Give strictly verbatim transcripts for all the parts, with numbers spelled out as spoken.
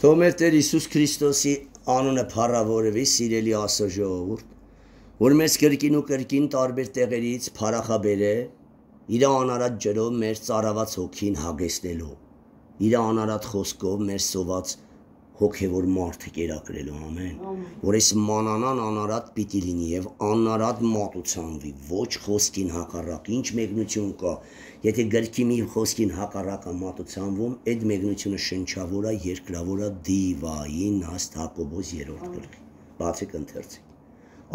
Թող մեր Տեր Հիսուս Քրիստոսի անունը փառավորվի, սիրելի Աստծո ժողովուրդ, որ մեզ կրկին ու կրկին տարբեր տեղերից փառախաբեր է իր անարատ ջրով մեր ծարաված հոգին հագեցնելու, իր անարատ խոսքով մեր սոված հոգևոր մարդը կերակրելու, ամեն, որ այս մանանան անարատ պիտի լինի եւ անարատ մատուցանվի, ոչ խոսքին հակառակ, ինչ մեկնություն կա, եթե գրքի մի խոսքին հակառակը մատուցանվում, այդ մեկնությունը շնչավոր է, երկրավոր է, դիվային հաստ Հակոբոս երրորդ գլխի, բացեք ընթերցեք,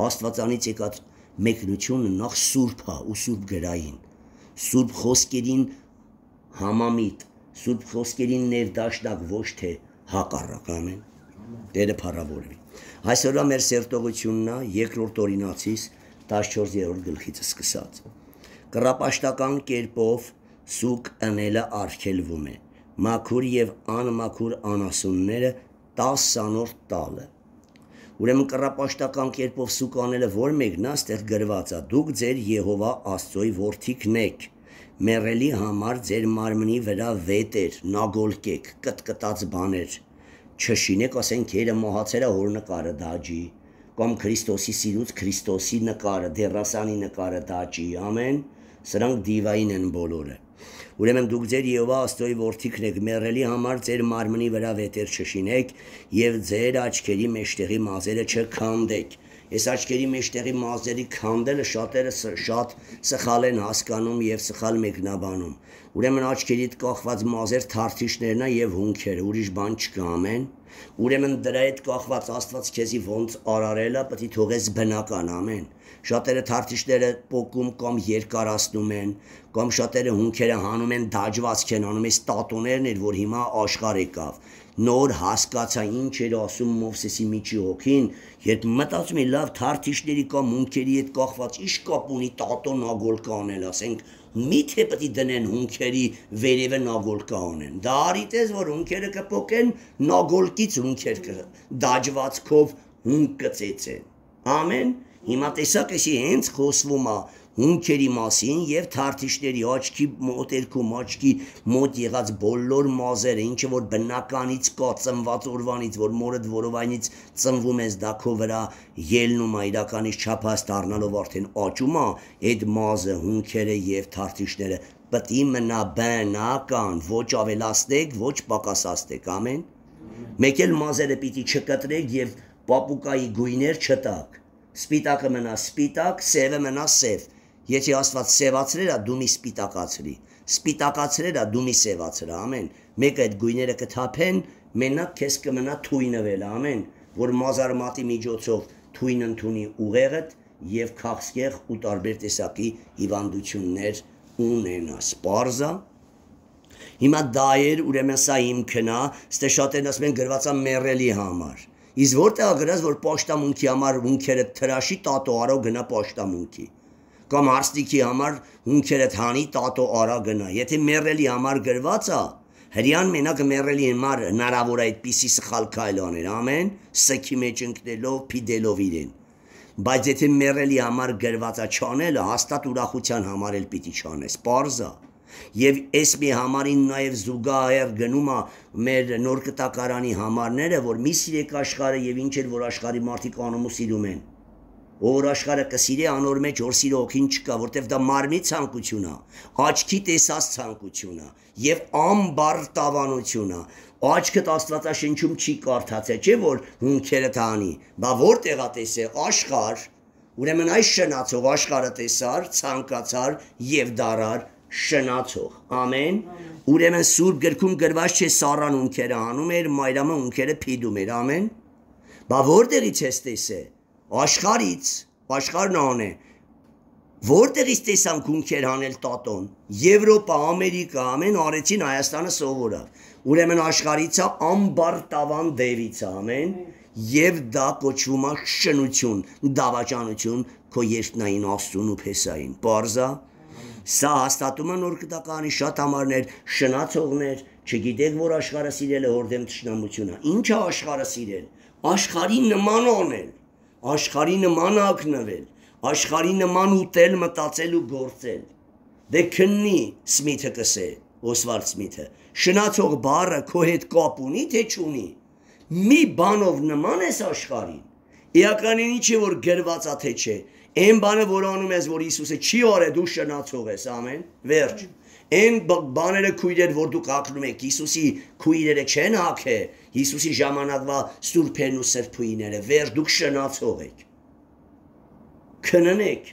Աստվածանից եկած մեկնությունը նախ սուրբ է ու սուրբ գրային, սուրբ խոսքերին համամիտ, սուրբ խոսքերին ներդաշնակ, ոչ թե հակառակ, ամեն, Տերը փառավորվի։ Այսօրվա մեր սերտողությունն է երկրորդ Օրինացիս տասնչորսերորդ գլխից սկսած։ Կռապաշտական կերպով սուկ ընելը արգելվում է, մաքուր եւ անմաքուր անասունները տասանորդ տալը։ Ուրեմն կռապաշտական կերպով սուկ անելը որ մեկն է, այստեղ գրված է, դուք ձեր Եհովա Աստծոյի որդիքն եք, մեռելի համար ձեր մարմնի վրա վետեր, նագոլկեք, կտկտած բաներ, չշինեք, ասենք երը մահացերա հոր նկարը դաջի, կամ Քրիստոսի սիրուց Քրիստոսի նկարը, դերասանի նկարը դաջի, ամեն, սրանք դիվային են բոլորը։ Ուրեմն դուք ձեր Եհովա Աստծոյի որդիքն եք, մեռելի համար ձեր մարմնի վրա վետեր չշինեք եւ ձեր աչքերի մեջտեղի մազերը չքանդեք։ Այս աչքերի մեջտեղի մազերի քանդելը շատերը շատ սխալ են հասկանում եւ սխալ մեկնաբանում։ Ուրեմն աչքերիդ կախված մազեր թարթիշներն է եւ հունքերը, ուրիշ բան չկա, ամեն։ Ուրեմն դրա հետ կախված Աստված քեզի ոնց արարելա, պետք է թողես բնական, ամեն։ Շատերը թարթիշները պոկում կամ երկարացնում են, կամ շատերը հունքերը հանում են դաջվածք են անում, այս տատոներն էր, որ հիմա աշխարհ եկավ։ Նոր հասկացա ինչ էր ասում Մովսեսի միջի հոգին, երբ մտածում է լավ թարթիշների կամ հունքերի հետ կախված ինչ կապ ունի տատո նագոլկա անել, ասենք միթե պետք է դնեն հունքերի վերևը նագոլկա անեն։ Դա արիտես որ հունքերը կփոկեն, նագոլկից հունքեր դաջվածքով հունք կծեցեն։ Ամեն։ Հիմա տեսակ էսի հենց խոսվում է հունքերի մասին եւ թարթիշների աչքի մոտերքում աչքի մոտ եղած բոլոր մազերը, ինչը որ բնականից կա ծնված օրվանից, որ մորդ որովայնից ծնվում ես դա քո վրա ելնում է իրականից չափած դառնալով արդեն աճում է, այդ մազը, հունքերը եւ թարթիշները պետք է մնա բնական, ոչ ավելացնեք, ոչ պակասացնեք, ամեն։ Մեկ էլ մազերը պիտի չկտրեք եւ պապուկայի գույներ չտակ։ Սպիտակը մնա սպիտակ, սևը մնա սև։ Եթե Աստված սևացրել է, դու մի սպիտակացրի։ Սպիտակացրել է, դու մի սևացրի, ամեն։ Մեկը այդ գույները կթափեն, մենակ քեզ կմնա թույնվել, ամեն, որ մազարմատի միջոցով թույն ընդունի ուղեղդ եւ քաղցկեղ ու տարբեր տեսակի հիվանդություններ ունենա։ Սպարզա։ Հիմա դա էր, ուրեմն սա հիմքն է, ստե շատերն ասում են գրված է մեռելի համար։ Իսկ որտեղ գրած որ պաշտամունքի համար հունքերը թրաշի տատո արո գնա պաշտամունքի կամ հարստիքի համար հունքերը թանի տատո արա գնա եթե մեռելի համար գրված է հрьян մենակ մեռելի համար հնարավոր է այդպիսի սխալ քայլ անել ամեն սքի մեջ ընկնելով փիդելով իրեն բայց եթե մեռելի համար գրված է չանելը հաստատ ուրախության համար էլ պիտի չանես պարզա Եվ այս մի համարին նաև զուգահեռ գնում է մեր նոր կտակարանի համարները, որ մի սիրեք աշխարհը եւ ինչ էլ որ աշխարհի մարդիկ անում ու սիրում են։ Որ աշխարհը կսիրի անոր մեջ որ սիրո հոգին չկա, որտեվ դա մարմնի ցանկություն է, աչքի տեսած ցանկություն է եւ ամբարտավանություն է։ Աչքդ Աստվածաշնչում չի կարդացել, չէ՞ որ հունքերը տանի, բա որտեղ է տեսել աշխարհ, ուրեմն այս շնացող աշխարհը տեսար, ցանկացար եւ դարար շնացող, ամեն, ուրեմն սուրբ գրքում գրված չէ Սառան ունքերը անում էր, Մայրամը ունքերը փիդում էր, ամեն, բա որտեղից ես տեսե, աշխարից, աշխարհն ան է, որտեղից տեսանք ունքեր հանել տատոն, Եվրոպա, Ամերիկա, ամեն արեցին Հայաստանը սովորավ, ուրեմն աշխարից է ամբարտավան դևից, ամեն, եւ դա կոչվում է շնություն, դավաճանություն քո երկնային Աստծուն ու Փեսային, պարզա Սա հաստատում է նոր կտականի շատ համարներ, շնացողներ, չգիտեք, որ աշխարհը սիրել է հորդեմ թշնամությունը։ Ինչ է աշխարհը սիրել։ Աշխարհի նման անել, աշխարհի նման ակնվել, աշխարհի նման ուտել, մտածել ու գործել։ Դե քննի Սմիթը կսե, Օսվալդ Սմիթը։ Շնացող բառը քո հետ կապ ունի, թե չունի։ մի բանով նման ես աշխարհին, Իականին ինչ է որ գրված է թե չէ, այն բանը որ անում ես որ Հիսուսը չի արել դու շնացող ես, ամեն, վերջ։ Այն բաները քույրեր որ դուք հագնում եք, Հիսուսի քույրերը չեն հագե, Հիսուսի ժամանակվա սուրբերն ու սրբույները, վերջ դուք շնացող եք։ Քննեք,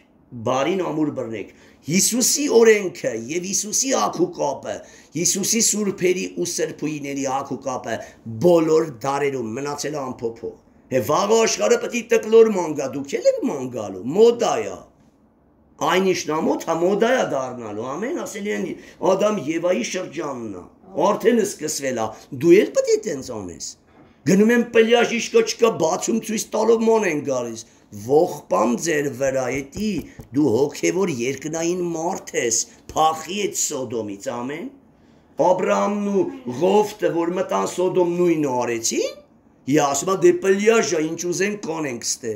բարին ամուր բռնեք։ Հիսուսի օրենքը եւ Հիսուսի ակուկապը, Հիսուսի սուրբերի ու սրբույների ակուկապը բոլոր դարերում մնացել է անփոփոխ։ Եվ վաղ աշխարհը պետք է տկլոր մանգա, դուք ել եք մանգալու, մոդայա։ Այն իշնամոտ հա մոդայա դառնալու, ամեն, ասելի են Ադամ Եվայի շրջանն է, արդեն սկսվել է, դու էլ պետք է տենց անես։ Գնում են պլյաժ իշկա չկա բացում ցույց տալով ման են գալիս։ Ողբամ ձեր վրա էտի դու հոգևոր երկնային մարդ ես, փախի այդ Սոդոմից, ամեն։ Աբրահամն ու Ղովտը որ մտան Սոդոմ նույնը արեցին, ասում դե պլյաժա ինչ ուզեն կանենք ստե։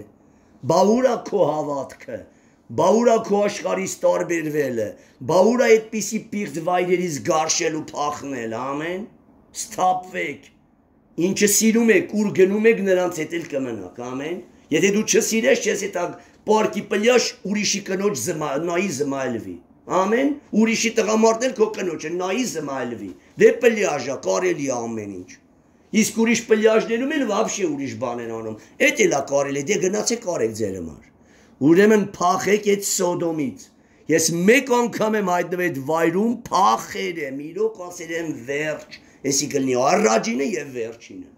Բա ուրա քո հավատքը, բա ուրա քո աշխարհից տարբերվելը, բա ուրա այդպիսի պիղծ վայրերից գարշել ու փախնել, ամեն։ Սթափվեք։ Ինչը սիրում եք, ուր գնում եք նրանց հետ էլ կմնաք, ամեն։ Եթե դու չսիրես, չես այդ պարկի պլյաշ ուրիշի կնոջ նայի զմայլվի, ամեն, ուրիշի տղամարդն էլ քո կնոջը նայի զմայլվի, դե պլյաժա, կարելի է ամեն ինչ։ Իսկ ուրիշ պլյաժներում էլ վաբշե ուրիշ բան են անում, էդ էլ է կարելի, դե գնացեք արեք ձեր համար։ Ուրեմն փախեք այդ Սոդոմից։ Ես մեկ անգամ եմ հայտնվել այդ վայրում, փախել եմ, իրոք ասել եմ վերջ, էսի կլինի առաջինը եւ վերջինը։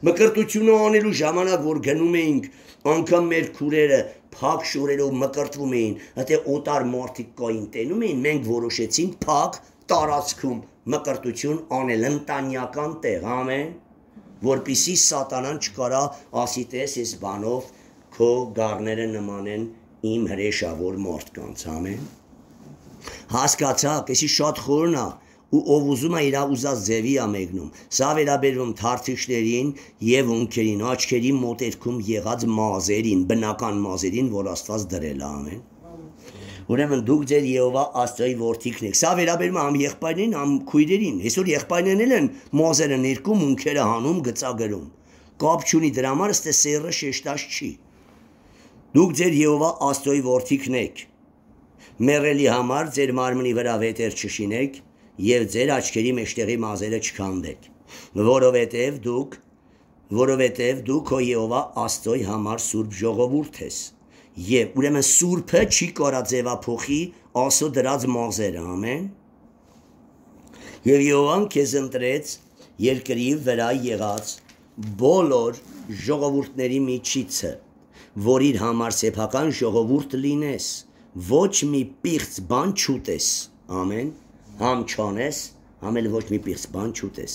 Մկրտությունը անելու ժամանակ որ գնում էինք, անգամ մեր քուրերը փակ շորերով մկրտվում էին, հատե օտար մարդիկ կային տենում էին, մենք որոշեցինք փակ տարածքում մկրտություն անել ընտանյական տեղ, ամեն, որպիսի սատանան չկարա ասի տես այս բանով քո գառները նմանեն իմ հրեշավոր մարդկանց, ամեն։ Հասկացաք, էսի շատ խորն է, ու ով ուզում է իր ուզած ձևի է մեկնում։ Սա վերաբերվում թարթիշներին եւ ունքերին, աչքերի մոտերքում եղած մազերին, բնական մազերին, որ Աստված դրել է, ամեն։ Ուրեմն դուք ձեր Եհովա Աստծոյի որդիքն եք։ Սա վերաբերում է ամ եղբայրներին, ամ քույրերին։ Այսօր եղբայրներն են մազերը ներկում, ունքերը հանում, գծագրում։ Կապ չունի դրա համար, ըստե սերը շեշտած չի։ Դուք ձեր Եհովա Աստծոյի որդիքն եք։ Մեռելի համար ձեր մարմնի վրա վետեր չշինեք եւ ձեր աչքերի մեջտեղի մազերը չքանդեք, որովհետեւ դուք որովհետեւ դու քո Եհովա Աստծոյի համար սուրբ ժողովուրդ ես, եւ ուրեմն սուրբը չի կարա ձևափոխի ասո դրած մազերը, ամեն։ Եվ Եհովան քեզ ընտրեց երկրի վրա եղած բոլոր ժողովուրդների միջիցը, որ իր համար սեփական ժողովուրդ լինես, ոչ մի պիղծ բան չուտես, ամեն։ Համ չանես, համ էլ ոչ մի պիղծ բան չուտես։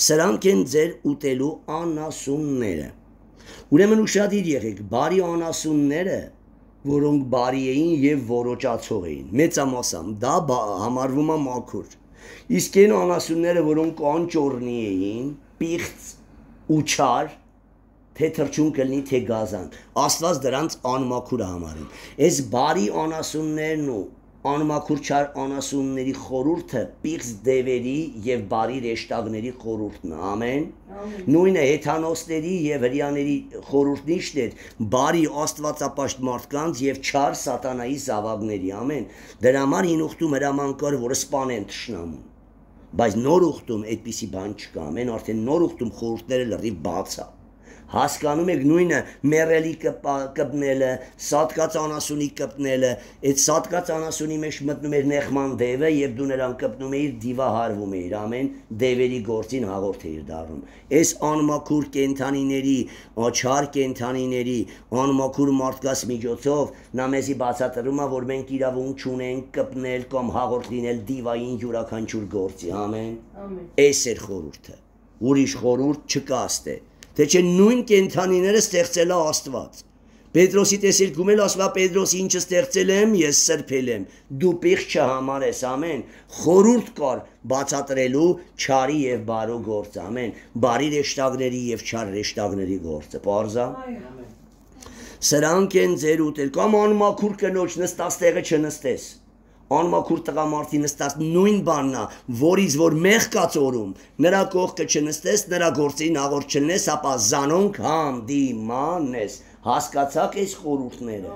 Սրանք են ձեր ուտելու անասունները։ Ուրեմն ուշադիր եղեք, բարի անասունները, որոնք բարի էին եւ որոճացող էին, մեծամասամբ դա համարվում է մաքուր։ Իսկ այն անասունները, որոնք անճոռնի էին, պիղծ ու չար, թե թրջուն կլինի, թե գազան, Աստված դրանց անմաքուր է համարում։ Այս բարի անասուններն ու անմաքուր չար անասունների խորհուրդը պիղծ դևերի եւ բարի ռեշտակների խորհուրդն է, ամեն։ Նույնը հեթանոսների եւ հրյաների խորհուրդն իշտ է, բարի աստվածապաշտ մարդկանց եւ չար սատանայի զավակների, ամեն։ Դրա համար հին ուխտում հրաման կար, որ սպանեն թշնամուն։ Բայց նոր ուխտում այդպիսի բան չկա, ամեն, արդեն նոր ուխտում խորհուրդները լրիվ բաց է։ Հասկանում եք նույնը մեռելի կպնելը, սատկած անասունի կպնելը, այդ սատկած անասունի մեջ մտնում էր նեղման դևը եւ դու նրան կպնում էիր, դիվահարվում էիր, ամեն, դևերի գործին հաղորդ էիր դառնում։ Այս անմաքուր կենդանիների, աչար կենդանիների, անմաքուր մարդկաց միջոցով նա մեզի բացատրում է, որ մենք իրավունք չունենք կպնել կամ հաղորդ լինել դիվային յուրաքանչյուր գործի, ամեն։ Այս էր խորհուրդը։ Ուրիշ խորհուրդ չկա ստե։ Թե չէ նույն կենդանիները ստեղծել է Աստված։ Պետրոսի տեսիլքում էլ ասում է Պետրոս ինչը ստեղծել եմ, ես սրբել եմ։ Դու պիղծ չհամարես, ամեն։ Խորհուրդ կար բացատրելու չարի եւ բարու գործը, ամեն։ Բարի ռեշտակների եւ չար ռեշտակների գործը, պարզա։ Սրանք են ձեր ուտել, կամ անմաքուր կնոջ նստած տեղը չնստես։ Անմաքուր տղամարդի նստած նույն բանն է, որից որ մեղ կացորում, նրա կողքը չնստես, նրա գործին աղորդ չլնես, ապա զանոնք հանդիմանես։ Հասկացաք այս խորհուրդները։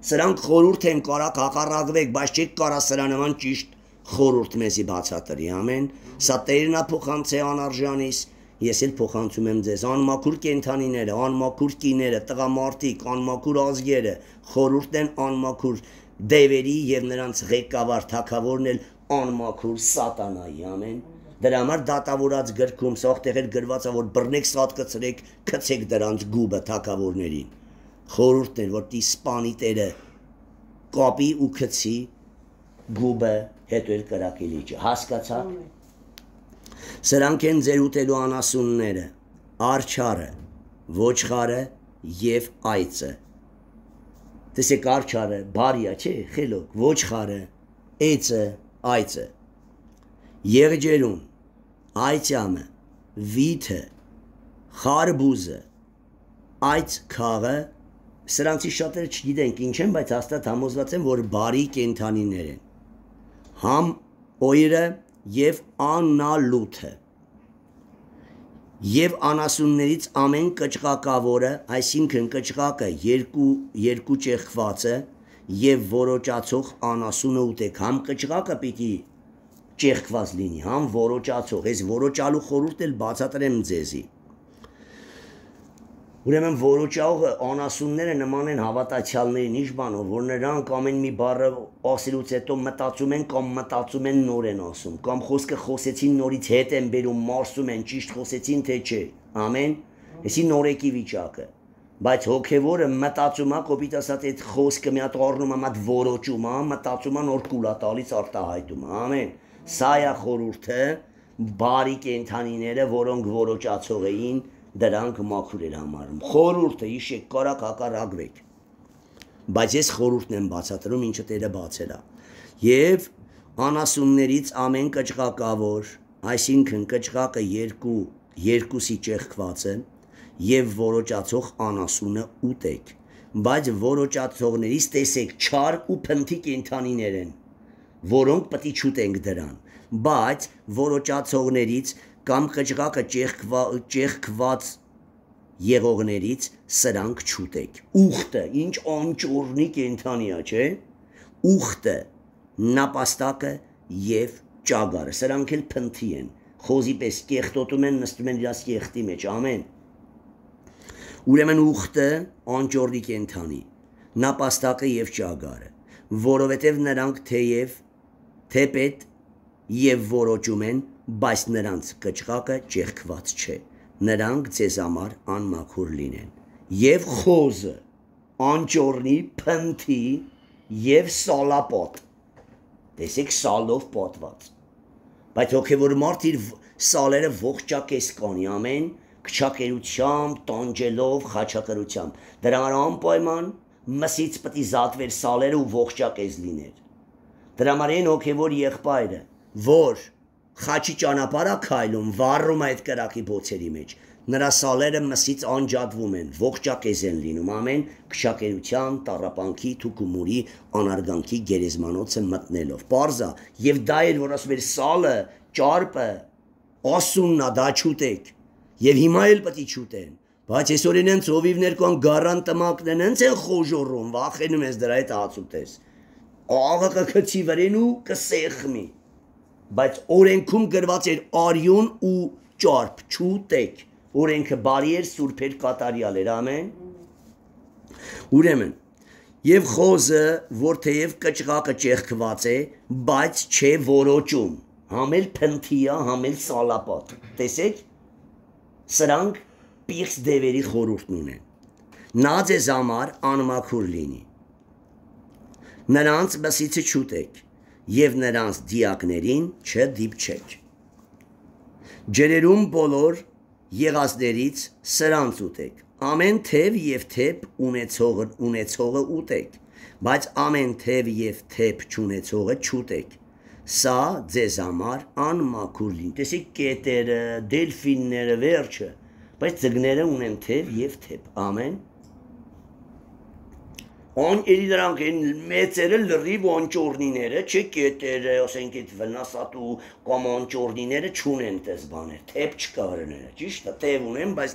Սրանք խորհուրդ են, կարակ հակառակվեք, բայց չեք կարա սրա նման ճիշտ խորհուրդ մեզի բացատրի, ամեն։ Սա Տերն է փոխանցե անարժանիս, ես էլ փոխանցում եմ ձեզ անմաքուր կենդանիները, անմաքուր կիները, տղամարդիկ, անմաքուր ազգերը, խորհուրդն են անմաքուր դևերի եւ նրանց ղեկավար թագավորն էլ անմաքուր սատանայի, ամեն։ Դրա համար դատավորած գրքում սաղտեղեր գրված է, որ բռնեք սատկացրեք, քցեք դրանց գուբը թագավորներին։ Խորհուրդն էր, որ տի սպանի Տերը կապի ու քցի գուբը, հետո էլ կրակի լիճը, հասկացա։ Սրանք են ձեր ուտելու անասունները, արջարը, ոչխարը եւ այծը։ Տեսեք արջարը, բարիա, չէ, խելոք, ոչխարը, այծը, այծը, եղջերուն, այծյամը, վիթը, խարբուզը, այծ քաղը, սրանցի շատերը չգիտենք ինչ են, բայց հաստատ համոզված են, որ բարի կենդանիներ են։ Համ օյրը եւ անալութը եւ անասուններից ամեն կճղակավորը, այսինքն կճղակը երկու երկու ճեղքվածը եւ որոճացող անասունը ուտեք, համ կճղակը պիտի ճեղքված լինի, համ որոճացող, այս որոճալու խորհուրդ էլ բացատրեմ ձեզի։ Ուրեմն որոճողը անասունները նման են հավատացյալներին, ինչ բանով, որ նրանք ամեն մի բառը ասելուց հետո մտածում են կամ մտածում են նոր են ասում, կամ խոսքը խոսեցին նորից հետ են բերում, մարսում են, ճիշտ խոսեցին թե չէ, ամեն, այսի նորեկի վիճակը, բայց հոգևորը մտածում է, կոպիտ ասած այդ խոսքը մի հատ առնում է, մատ որոճում է, մտածում է նոր կուլա տալիս արտահայտում է, ամեն, սա է խորհուրդը, բարի կենդանիները, որոնք որոճացող էին, դրանք մաքուր էր համարում։ Խորհուրդը իշեք կարակ հակառակվեք։ Բայց ես խորհուրդն եմ բացատրում, ինչը Տերը բացել է։ Եվ անասուններից ամեն կճղակավոր, այսինքն կճղակը երկու երկուսի ճեղքվածը եւ որոճացող անասունը ուտեք։ Բայց որոճացողներից տեսեք չար ու փնթի կենդանիներ են, որոնք պետք է չուտենք դրան։ Բայց որոճացողներից կամ կճղակը ճեղքված եղողներից սրանք չուտեք։ Ուխտը, ինչ անճորնի կենդանի է, չէ՞։ Ուխտը, նապաստակը եւ ճագարը, սրանք էլ փնթի են։ Խոզի պես կեղտոտում են, նստում են իրաց կեղտի մեջ, ամեն։ Ուրեմն ուխտը անճորնի կենդանի, նապաստակը եւ ճագարը, որովհետեւ նրանք թեև թեպետ եւ որոճում են, բայց նրանց կճղակը ճեղքված չէ, նրանք ձեզ համար անմաքուր լինեն, եւ խոզը, անճորնի, փնթի եւ սալապոտ, տեսեք սալով պատված, բայց հոգևոր մարդ իր սալերը ողջակես կանի, ամեն, քչակերությամբ, տանջելով, խաչակրությամբ, դրա համար անպայման մսից պետք է զատվեր սալերը ու ողջակես լիներ, դրա համար այն հոգևոր եղբայրը, որ խաչի ճանապարհ է քայլում, վառում այդ կրակի բոցերի մեջ, նրա սալերը մսից անջատվում են, ողջակեզ են լինում, ամեն, քչակերության, տառապանքի, թուկումուրի, անարգանքի գերեզմանոցը մտնելով, պարզա, եւ դա էր, որ ասում էր սալը, ճարպը, ասուննա, դա չուտեք, եւ հիմա էլ պետք է չուտեն, բայց այսօր են ծովիվներ կան գարան տմակն են, հենց են խոժոռում, վախենում ես դրա հետ հաց ուտես, աղը կքցի վրեն ու կսեղմի, բայց օրենքում գրված էր արյուն ու ճարպ չուտեք, օրենքը բարի էր, սուրբ էր, կատարյալ էր, ամեն։ Ուրեմն, եւ խոզը, որ թեև կճղակը ճեղքված է, բայց չէ որոճում, համ էլ փնթի է, համ էլ սալապատ, տեսեք, սրանք պիղծ դևերի խորհուրդն ունեն, նա ձեզ համար անմաքուր լինի, նրանց մսիցը չուտեք, եւ նրանց դիակներին չդիպչեք։ Ջրերում բոլոր եղածներից սրանց ուտեք, ամեն թև եւ թեփ ունեցողը ունեցողը ուտեք, բայց ամեն թև եւ թեփ չունեցողը չուտեք։ Սա ձեզ համար անմաքուր լինի։ Տեսեք կետերը, դելֆինները, վերջը, բայց ձկները ունեն թև եւ թեփ, ամեն։ On երի դրանք են մեծերը լրիվ անճորնիները, չէ կետերը, ասենք այդ վնասատու կամ անճորնիները չունեն տես բաներ, թեփ չկա հրները, ճիշտ է, թեփ ունեն, բայց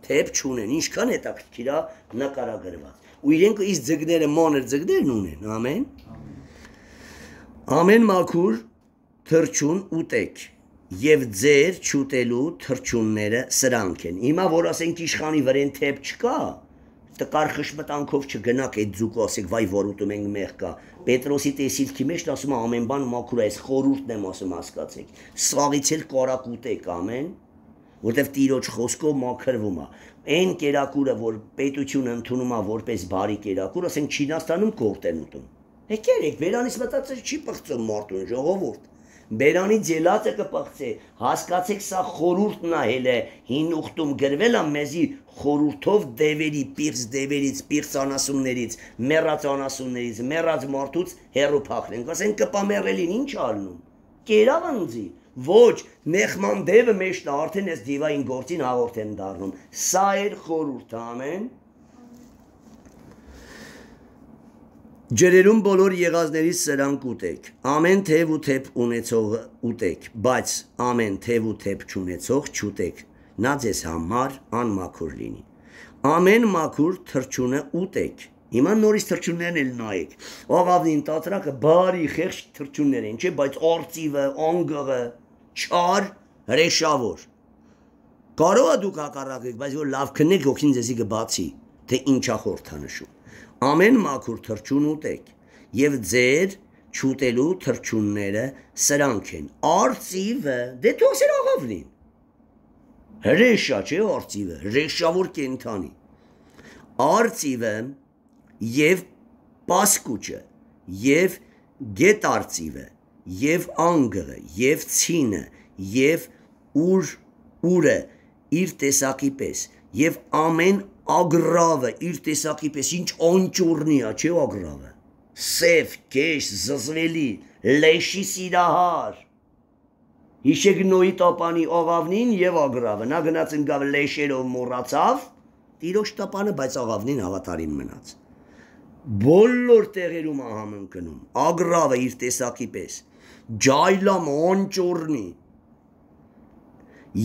թեփ չունեն, ինչքան հետաքրքիր է նկարագրված։ Ու իրենք իս ձգները մանր ձգներն ունեն, ամեն։ Ամեն մաքուր թրջուն ուտեք եւ ձեր չուտելու թրջունները սրանք են։ Հիմա որ ասենք իշխանի վրեն թեփ չկա, տկար խշմտանքով չգնաք այդ ձուկը ասեք վայ որ ուտում ենք մեղ կա Պետրոսի տեսիլքի մեջ ասում է ամեն բան մաքուր է, այս խորհուրդն եմ ասում հասկացեք սաղից էլ կարակ ուտեք ամեն որտեվ Տիրոջ խոսքով մաքրվում է այն կերակուրը որ պետությունը ընդունում է որպես բարի կերակուր ասենք Չինաստանում կորտ են ուտում եկեք բերանից մտածել չի պղծում մարդուն ժողովուրդ Բերանի ձելածը կպղծե, հասկացեք սա խորուրդն է հելը, հին ուխտում գրվել է մեզի խորուրդով դևերի, պիրց դևերից, պիրց անասուններից, մեռած անասուններից, մեռած մարդուց հեռու փախնենք, ասենք կպամերելին ինչ արնում, կերավ ընձի, ոչ, նեխման դևը մեջն արդեն ես դիվային գործին հաղորդ են դառնում, սա էր խորուրդ, ամեն Ջրերում բոլոր եղածներից սրանք ուտեք, ամեն թև ու թև ունեցողը ուտեք, բայց ամեն թև ու թև չունեցող չուտեք, նա ձեզ համար անմաքուր լինի։ Ամեն մաքուր թրջունը ուտեք, հիմա նորից թրջուններն էլ նայեք, աղավնին տատրակը բարի խեղճ թրջուններ են, չէ, բայց արծիվը, անգղը, չար, հրեշավոր։ Կարող է դուք հակառակեք, բայց որ լավ քնեք, հոգին ձեզի կբացի, թե ինչա խորհրդանշում։ Ամեն մաքուր թրջուն ուտեք, եւ ձեր չուտելու թրջունները սրանք են։ Արծիվը, դե թողսեր աղավնին։ Հրեշա չէ արծիվը, հրեշավոր կենթանի։ Արծիվը եւ պասկուճը, եւ գետարծիվը, եւ անգղը, եւ ցինը, եւ ուր ուրը իր տեսակի պես, եւ ամեն ագրավը իր տեսակի պես ինչ անճորնի է, չէ ագրավը, սև, կեշ, զզվելի, լեշի սիրահար, հիշեք նոյի տապանի աղավնին և ագրավը, նա գնաց ընկավ լեշերով մորացավ, տիրոջ տապանը, բայց աղավնին հավատարիմ մնաց, բոլոր տեղերում ահամն կնում, ագրավը իր տեսակի պես, ջայլամը, անճորնի,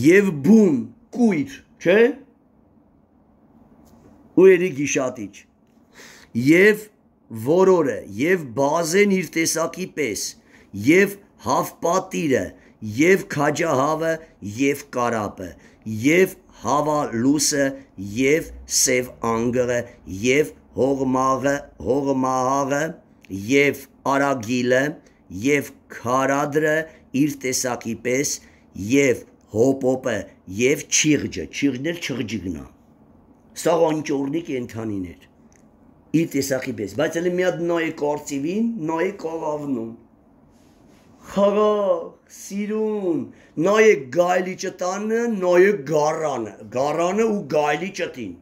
և բուն, կույր, չէ, ու երի գիշատիչ, և որորը, և բազեն իր տեսակի պես, և հավպատիրը, և քաջահավը, և կարապը, և հավալուսը, և սև անգղը, և հողմաղը, հողմահաղը, և արագիլը, և քարադրը իր տեսակի պես, և հոպոպը, և չիղջը, չիղջն էլ չղջիգնա, սա անճորնի կենթանիներ, իր տեսակի պես, բայց էլ մի հատ նայեք արծիվին, նայեք աղավնում, խաղաղ, սիրուն, նայեք գայլի ճտանը, նայեք գարանը, գարանը ու գայլի ճտին,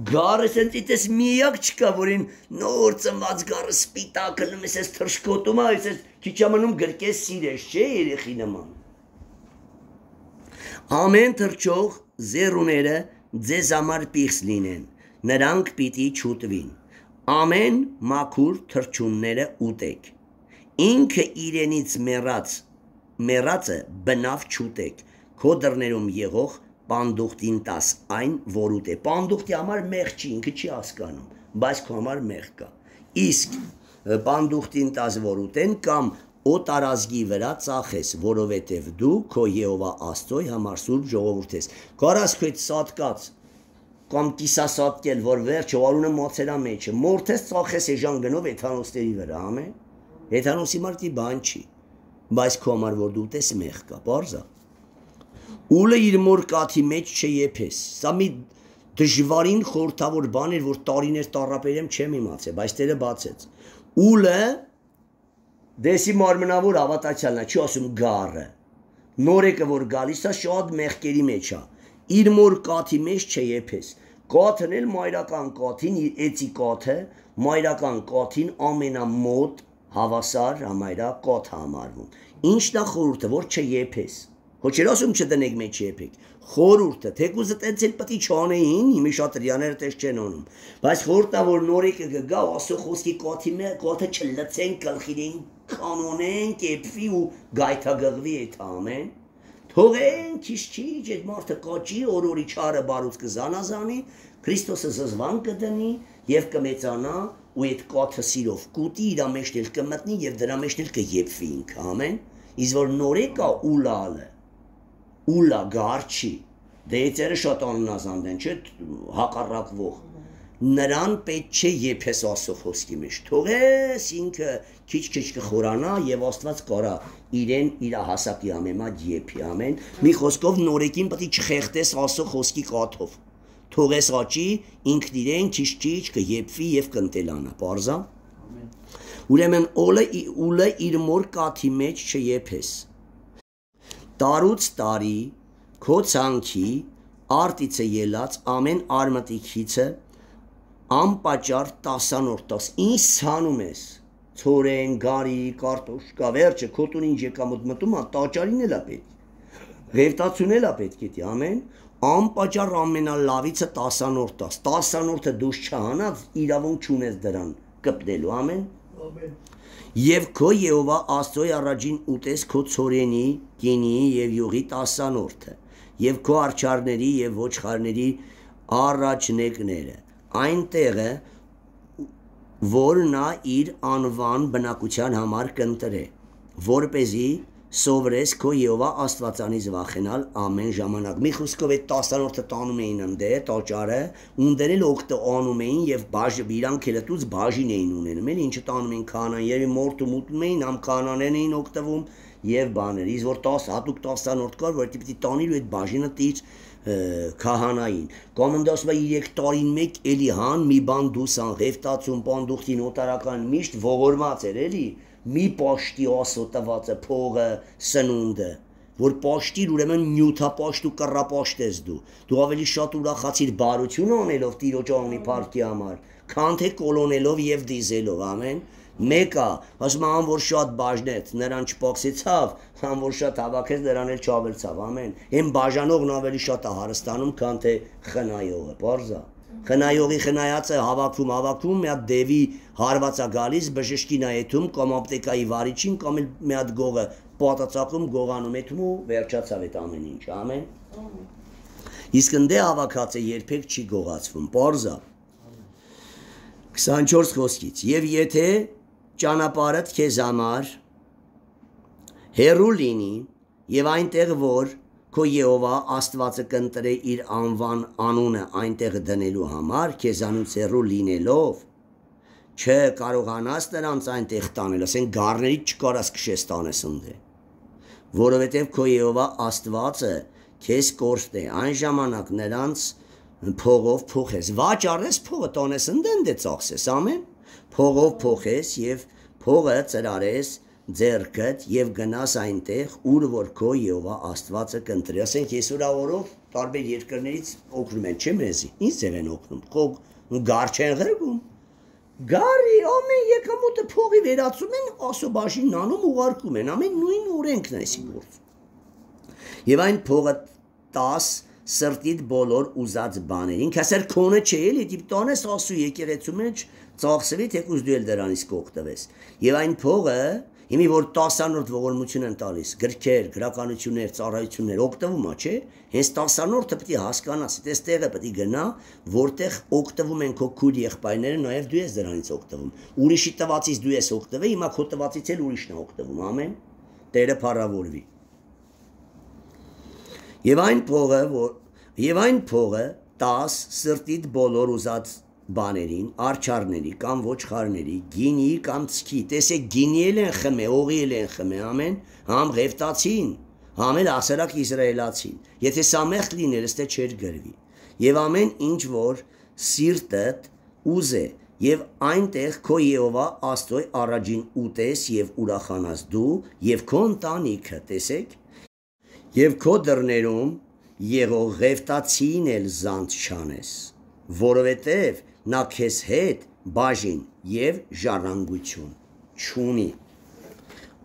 գարը սենց իտես միակ չկա, որին նոր ծնված գարը սպիտակ հլում ես ես թրշկոտում է, ես քիչ ամնում գրկես սիրես, չէ երեխի նման, ամեն թրջող զերուները ձեզ համար պիղծ լինեն, նրանք պիտի չուտվին, ամեն մաքուր թրջունները ուտեք, ինքը իրենից մեռած, մեռածը բնավ չուտեք, քո դռներում եղող պանդուխտին տաս այն, որ ուտե, պանդուխտի համար մեղ չի, ինքը չի հասկանում, բայց քո համար մեղ կա, իսկ պանդուխտին տաս, որ ուտեն, կամ օտարազգի վրա ծախես, որովհետև դու քո Եհովա Աստծոյ համար սուրբ ժողովուրդ ես, կարաս քո այդ սատկած, կամ կիսասատկել, որ վերջը արունը մացերա մեջը, մորթես ծախես էժան գնով էթանոստերի վրա, ամեն, էթանոսի մարդի բան չի, բայց քո համար որ դու ուտես մեղ կա, պարզա, ուլը իր մոր կաթի մեջ չեփես, սա մի դժվարին խորհրդավոր բան էր, որ տարիներ տառապել եմ չեմ իմացել, բայց Տերը բացեց, ուլը դեսի մարմնավոր հավատացյալն է, չի ասում գառը, նորեկը որ գալիս է շատ մեղքերի մեջ է, իր մոր կաթի մեջ չեփես, կաթն էլ մայրական կաթին, էծի կաթը, մայրական կաթին ամենամոտ հավասար համայրա կաթ համարվում, ինչն է խորհուրդը, որ չեփես, Հո չէր ասում չդնեք մեջ եփեք։ Խորուրդը, թեկուզը տենց էլ պետք է չանեին, հիմի շատ հрьяաները տես չեն անում։ Բայց խորտա որ նորեկը գա, ասո խոսքի կոթի մե, կոթը չլցեն, գլխին կանոնեն, կեպվի ու գայթագղվի այդ ամեն։ Թողեն քիչ-քիչ այդ մարդը կոճի, օրորի չարը բարուց կզանազանի, Քրիստոսը զզվան կդնի եւ կմեծանա ու այդ կոթը սիրով կուտի իր մեջ էլ կմտնի եւ դրա մեջ էլ կեփվի ինքը, ամեն։ Իսկ որ նորեկա ուլալը Ուլա գարչի, դեյցերը շատ աննազանդ են, չէ, հակառակվող, նրան պետք չէ եփես ասո խոսքի մեջ, թողես ինքը քիչ-քիչ կխորանա եւ Աստված կարա իրեն իր հասակի ամեմատ եփի, ամեն, մի խոսքով նորեկին պետք է չխեղտես ասո խոսքի կաթով, թողես աճի, ինքն իրեն քիչ-քիչ կեփվի եւ կընտելանա, պարզա։ Ուրեմն օլը ուլը իր մոր կաթի մեջ չեփես։ Տարուց տարի, քո ցանքի, արտիցը ելած ամեն արմատիքիցը, անպաճար տասանորդաս, ինչ ցանում ես, ցորեն, գարի, կարտոշկա, վերջը, քո տուն ինչ եկամուտ մտում, տաճարին էլ է պետք, ղևտացուն էլ է պետք է, ամեն, անպաճար ամենալավիցը տասանորդաս, տասանորդը դուս չհանած, իրավունք չունես դրան, կպնելու, ամեն, Եվ քո Եհովա Աստծոյ առաջին ուտես քո ցորենի, կինի եւ յուղի տասանորդը, եւ քո արչարների եւ ոչխարների առաջնեկները, այնտեղը, որ նա իր անվան բնակության համար կընտրե, որպեսզի սովորես քո Եհովա Աստվածանից վախենալ ամեն ժամանակ։ Մի խոսքով այդ տասանորդը տանում էին ընդե, տաճարը, ունդեր էլ օգտը անում էին եւ բաժ իրանք էլ դուց բաժին էին ունենում, էլ ինչը տանում էին քանան եւ մորտում ուտում էին, համ քանաներն էին օգտվում եւ բաներ։ Իսկ որ տաս հատուկ տասանորդ կար, որ դիտի տանիր ու այդ բաժինը տից քահանային։ Կոմանդոսվա երեք տարին մեկ էլի հան մի բան դուսան ղևտացում պանդուխտին օտարական միշտ ողորմած էր էլի մի պաշտի ասո տվածը փողը սնունդը որ պաշտիր ուրեմն նյութապաշտ ու կռապաշտ ես դու դու ավելի շատ ուրախացիր բարություն անելով տիրոջ անունի փառքի համար քան թե կոլոնելով եւ դիզելով ամեն մեկը ասում ան որ շատ բաժնեց նրան չփոքսեցավ ան որ շատ հավաքեց նրան էլ չավերցավ ամեն այն բաժանողն ավելի շատ է հարստանում քան թե խնայողը բարձա Խնայողի խնայածը հավաքվում հավաքվում մի հատ դևի հարվածա գալիս բժշկին այդում կամ ապտեկայի վարիչին կամ մի հատ գողը պատածակում գողանում էթում ու վերջացավ այդ ամեն ինչ ամեն իսկ ընդ հավաքածը երբեք չի գողացվում պարզա քսանչորս խոսքից եւ եթե ճանապարհդ քեզ համար հերու լինի եւ այնտեղ որ Քո Եհովա Աստվածը կընտրե իր անվան անունը այնտեղ դնելու համար քեզանից հեռու լինելով չէ կարողանաս նրանց այնտեղ տանել ասեն գառներից չկարաս քշես տանես ընդ որովհետև քո Եհովա Աստվածը քեզ կորստ է այն ժամանակ նրանց փողով փոխես վաճառես փողը տանես ընդ ընդ ծախսես ամեն փողով փոխես եւ փողը ծրարես ձերքդ եւ գնաս այնտեղ ուր որ քո Եհովա Աստվածը կընտրի ասենք այսօր օրով տարբեր երկրներից օգնում են չէ մեզի ինչ ձև են օգնում խող գար չեն ղրգում գարի ամեն եկամուտը փողի վերածում են ասոբաշին նանում ուղարկում են ամեն նույն օրենքն է այսի գործ եւ այն փողը տաս սրտիդ բոլոր ուզած բաներին քասեր քոնը չէ էլի դիպ տանես ասու եկեղեցու մեջ ծախսվի թեկուզ դու էլ դրանից կօգտվես եւ այն փողը Հիմի որ տասանորդ ողորմություն են տալիս, գրքեր, գրականություններ, ծառայություններ օգտվում է, չէ՞։ Հենց տասանորդը պետք է հասկանաս, այս տեղը պետք է գնա, որտեղ օգտվում են քո քույր եղբայրները, նաև դու ես դրանից օգտվում։ Ուրիշի տվածից դու ես օգտվել, հիմա քո տվածից էլ ուրիշն է օգտվում, ամեն։ Տերը փառավորվի։ Եվ այն փողը, որ եւ այն փողը տաս սրտիդ բոլոր ուզած բաներին, արչարների կամ ոչխարների, գինի կամ ցքի, տեսեք գինի էլ են խմե, օղի էլ են խմե, ամեն, համ ղևտացին, համ էլ ասերակ իսրայելացին, եթե սամեղ լիներ, ըստե չեր գրվի, եւ ամեն ինչ որ սիրտդ ուզե, եւ այնտեղ քո Եհովա Աստծո առաջին ուտես եւ ուրախանաս դու եւ քո ընտանիքը, տեսեք, եւ քո դռներում եղող ղևտացին էլ զանց չանես, որովհետեւ նա քեզ հետ բաժին եւ ժառանգություն չունի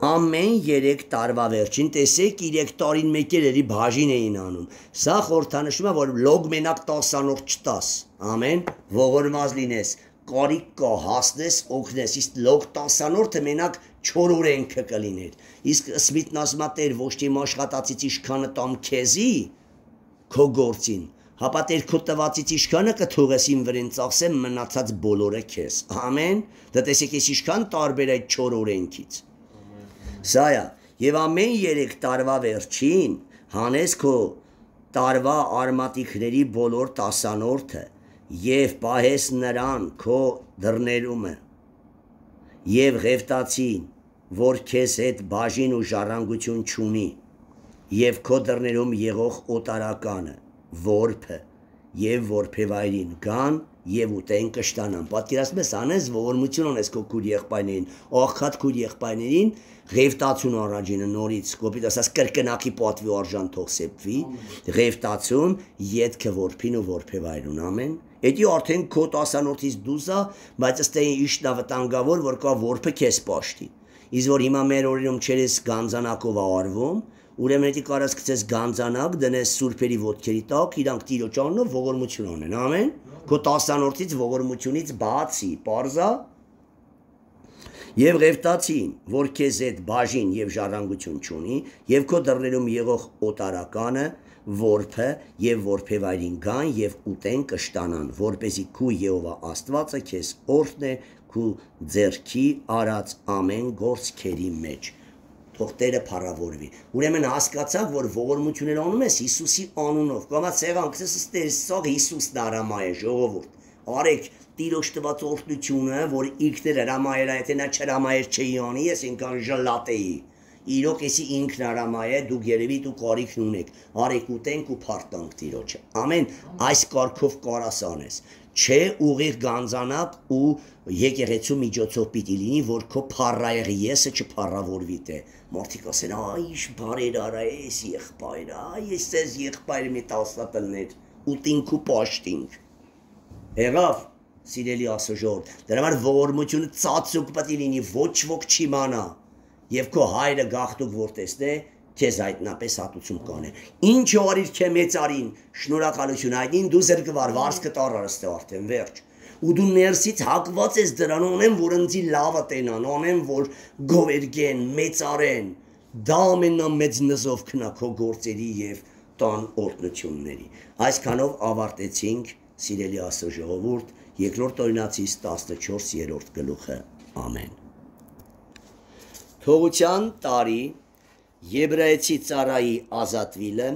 Ամեն երեք տարվա վերջին տեսեք երեք տարին մեկ էլ էլի բաժին էին անում։ Սա խորհրդանշում է, որ լոգ մենակ տասանորդ չտաս։ Ամեն, ողորմած լինես, կարիք կա, հասնես, օգնես, իսկ լոգ տասանորդը մենակ չորօրենքը կլիներ։ Իսկ Սմիթն ասում է Տեր ոչ թե իմ աշխատածից ինչքանը տամ քեզի քո գործին, հապա Տեր քո տվածից ինչքանը կթողես իմ վրեն ծախսեմ մնացած բոլորը քեզ։ Ամեն, դա տեսեք ես ինչքան տարբեր այդ չորօրենքից։ Սա է, եւ ամեն երեք տարվա վերջին հանես քո տարվա արմատիկների բոլոր տասանորդը եւ պահես նրան քո դռներումը եւ ղևտացին, որ քեզ հետ բաժին ու ժառանգություն չունի եւ քո դռներում եղող օտարականը, որբը եւ որբեվայրին գան եւ ուտեն կշտանան։ Պատկերացնում ես անես ողորմություն ունես քո քույր եղբայրներին, աղքատ քույր եղբայրներին ղևտացուն առաջինը նորից կոպիտ ասած կրկնակի պատվի արժան թող սեպվի, ղևտացուն ետքը որբին ու որբեվայրուն, ամեն։ Էդի արդեն քո տասանորդից դուսա, բայց ըստ իշն ավտանգավոր, որ կա որբը քեզ պաշտի։ Իսկ որ հիմա մեր օրերում չերես գանձանակով արվում, ուրեմն էդի կարաս գցես գանձանակ, դնես սուրբերի ոտքերի տակ, իրանք Տիրոջ անունով ողորմություն ունեն, ամեն։ Քո տասանորդից ողորմությունից բացի, պարզա եւ ղևտացին, որ քեզ հետ բաժին եւ ժառանգություն չունի, եւ քո դռներում եղող օտարականը, որբը եւ որբեվայրին գան եւ ուտեն կշտանան, որպեսզի քու Եհովա Աստվածը քեզ օրհնե քու ձեռքի արած ամեն գործքերի մեջ։ Թող Տերը փառավորվի։ Ուրեմն հասկացաք, որ ողորմություններ անում ես Հիսուսի անունով։ Կամա ցեղանքս ստեսող Հիսուսն արամայ է ժողովուրդ։ Արեք Տիրոջ տված օրհնությունը, որ ինքն էր հրամայել, եթե նա չհրամայեր չի անի, ես ինքան ժլատեի։ Իրոք էսի ինքն հրամայ է, դուք երևի դու կարիքն ունեք։ Արեք ուտենք ու փառտանք Տիրոջը։ Ամեն, այս կարգով կարաս անես։ Չէ ուղիղ գանձանակ ու եկեղեցու միջոցով պիտի լինի, որ քո փառայեղի եսը չփառավորվի տե։ Մարդիկ ասեն, այ ինչ բարեր արա ես եղբայր, այ ես ես եղբայր մի տասնապլներ, ուտինք ու պաշտինք։ Եղավ, սիրելի ասոժոր, դրա համար ողորմությունը ծածուկ պետք է լինի, ոչ ոք չիմանա, եւ քո հայրը գաղտուկ որ տեսնե, քեզ այդնապես հատուցում կանե։ Ինչ արիր քե մեծարին, շնորհակալություն այդին դու զրկվար վարսկը տարարստե արդեն վերջ։ Ու դու ներսից հակված ես դրան, անեմ որ ընձի լավը տենան, անեմ որ գովերգեն, մեծարեն։ Դա ամենամեծ նզով քնա քո գործերի եւ տան օրհնությունների։ Այսքանով ավարտեցինք, սիրելի Աստծո ժողովուրդ, երկրորդ օրինացից տասնչորսերորդ գլուխը։ Ամեն։ Թողության տարի Եբրայեցի ծառայի ազատվիլը